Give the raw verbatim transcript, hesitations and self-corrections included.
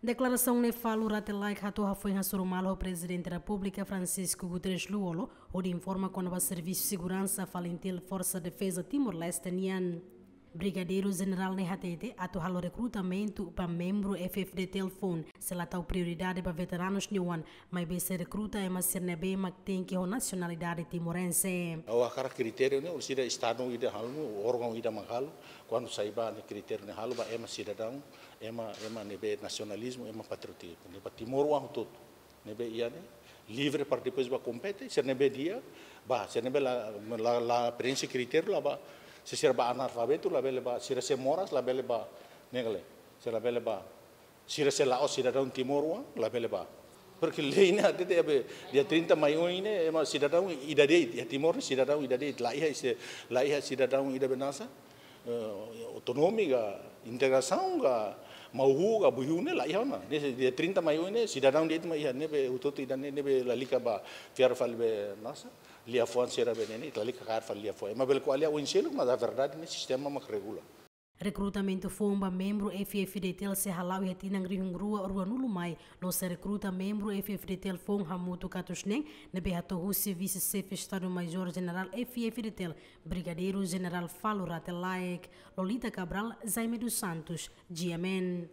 Deklarasaun ne'e Falo Rate Laek hato'o hafoin hasoru malu ho Prezidente Repúblika Francisco Guterres Lú-Olo, hodi informa kona-ba servisu seguransa FALINTIL Forsa Defeza Timor-Leste nian. Brigadeiru Jenerál ne'e hatete, atu halo rekrutamentu ba membru F-FDTL foun, sei la tau prioridade ba veteranus nia oan, maibé sei rekruta ema sira ne'ebé mak tenke ho nasionalidade timorense. Ha'u hakarak kritériu ne'e, orsida estadu ida halo, órgaun ida mak halo, kuandu sai ba ne'e kritériu ne'e halo ba ema sidadaun, ema, ema ne'ebé nasionalizmu, ema patriotizmu, ne'e ba timoroan hotu-hotu. Ne'ebé iha ne'e livre para depois ba kompete, sira ne'ebé di'ak ba, sira ne'ebé la, la, la preenxe kritériu la ba, se sira ba analfabetu labele ba, sira sei moras labele ba, ne'e ka lae, sira labele ba, sira sei la'ós sidadaun timoroan labele ba. Porque lei ne'e hatete, be, dia trinta mai oin ne'e, ema sidadaun ida de'it, iha Timor ne'e sidadaun ida de'it, la iha se, la iha sidadaun ida be nasa, eh, autonómiku ka, integrasaun ka, mau-huu ka, buyu ne'e la iha ona. Ne'e dia trinta mai oin ne'e, sidadaun de'it mak iha, ne'ebé hotu-hotu ida ne'e, ne'ebé lalika ba fiar fali be nasa, liafuan sira be ne'e, lalika kaer fali liafuan. Ema bele ko'alia oin seluk, mas a verdade ne'e sistema mak regula. Rekrutamentu foun ba membru F-FDTL sei hala'o iha tinan rihun rua ruanulu mai, no sei rekruta membru F-FDTL foun hamutuk atus neen, ne'ebé hato'o husi Vise-Xefe Estadu-Maiór Jenerál F-FDTL, Brigadeiru Jenerál Falo Rate Laek. Lolita Cabral, Jaime dos Santos, G M N.